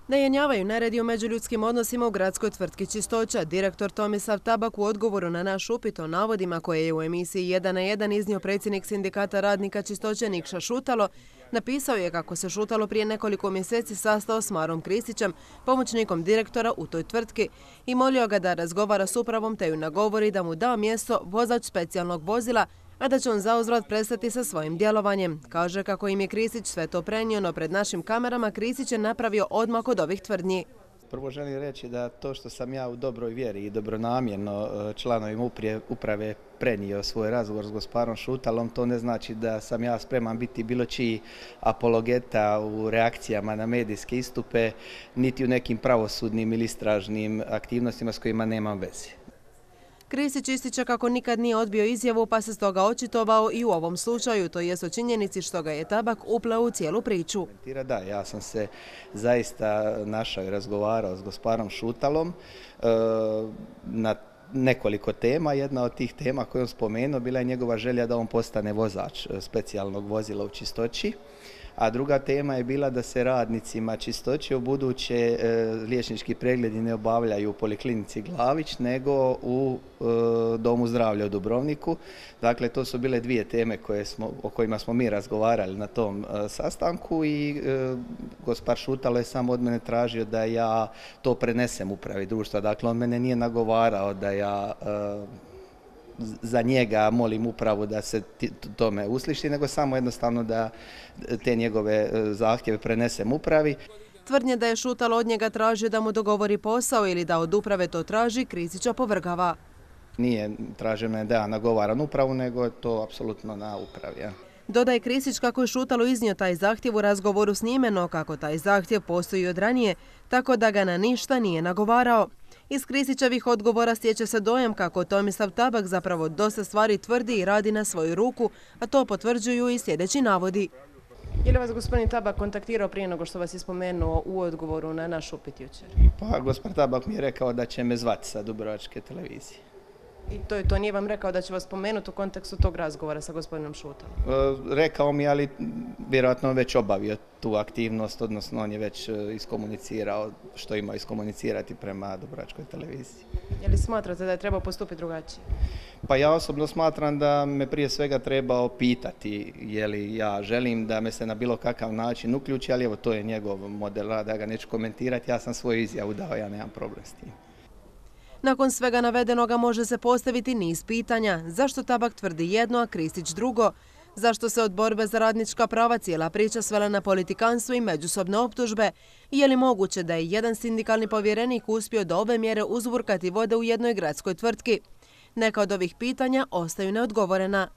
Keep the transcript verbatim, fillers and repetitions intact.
Ne jenjavaju neredi u međuljudskim odnosima u gradskoj tvrtki Čistoća. Direktor Tomislav Tabak u odgovoru na naš upit o navodima koje je u emisiji jedan na jedan iznio predsjednik sindikata radnika Čistoće Nikša Šutalo, napisao je kako se Šutalo prije nekoliko mjeseci sastao s Marom Kristićem, pomoćnikom direktora u toj tvrtki, i molio ga da razgovara s upravom te ju nagovori da mu da mjesto vozač specijalnog vozila, a da će on zauzvrat prestati sa svojim djelovanjem. Kaže kako im je Kristić sve to prenio, no pred našim kamerama Kristić je napravio odmak od ovih tvrdnji. Prvo želim reći da to što sam ja u dobroj vjeri i dobronamjerno članovima uprave prenio svoj razgovor s gospodinom Šutalom, to ne znači da sam ja spreman biti bilo čiji apologeta u reakcijama na medijske istupe, niti u nekim pravosudnim ili istražnim aktivnostima s kojima nemam veze. Kristić ističe kako nikad nije odbio izjavu, pa se stoga očitovao i u ovom slučaju, to jest o činjenici što ga je Tabak upleo u cijelu priču. Da, ja sam se zaista našao i razgovarao s gospodinom Šutalom na nekoliko tema. Jedna od tih tema koju on spomenuo bila je njegova želja da on postane vozač specijalnog vozila u Čistoći. A druga tema je bila da se radnicima Čistoće u buduće liječnički pregledi ne obavljaju u Poliklinici Glavić, nego u Domu zdravlja u Dubrovniku. Dakle, to su bile dvije teme koje smo, o kojima smo mi razgovarali na tom sastanku i gospodin Šutalo je samo od mene tražio da ja to prenesem upravi društva. Dakle, on mene nije nagovarao da ja za njega molim upravu da se tome usliši, nego samo jednostavno da te njegove zahtjeve prenesem upravi. Tvrdnje da je Šutalo od njega tražio da mu dogovori posao ili da od uprave to traži, Kristić opovrgava. Nije traženo da ja nagovaram upravu, nego je to apsolutno na upravi. Ja. Dodaje Kristić kako je Šutalo iznio taj zahtjev u razgovoru s njime, no kako taj zahtjev postoji od ranije, tako da ga na ništa nije nagovarao. Iz Kristićevih odgovora stječe se dojam kako Tomislav Tabak zapravo dosta stvari tvrdi i radi na svoju ruku, a to potvrđuju i sljedeći navodi. Je li vas gospodin Tabak kontaktirao prije nego što vas je spomenuo u odgovoru na naš upit jučer? Pa gospodin Tabak mi je rekao da će me zvati sa Dubrovačke televizije. I to je to, nije vam rekao da će vas spomenuti u kontekstu tog razgovora sa gospodinom Šutalom? E, rekao mi, ali vjerojatno već obavio tu aktivnost, odnosno on je već iskomunicirao što ima iskomunicirati prema Dubrovačkoj televiziji. Je li smatrate da je trebao postupiti drugačije? Pa ja osobno smatram da me prije svega trebao pitati je li ja želim da me se na bilo kakav način uključi, ali evo to je njegov model rada, ja ga neću komentirati, ja sam svoju izjavu dao, ja nemam problem s tim. Nakon svega navedenoga može se postaviti niz pitanja. Zašto Tabak tvrdi jedno, a Kristić drugo? Zašto se od borbe za radnička prava cijela priča svela na politikanstvo i međusobne optužbe? Je li moguće da je jedan sindikalni povjerenik uspio do ove mjere uzburkati vode u jednoj gradskoj tvrtki? Neka od ovih pitanja ostaju neodgovorena.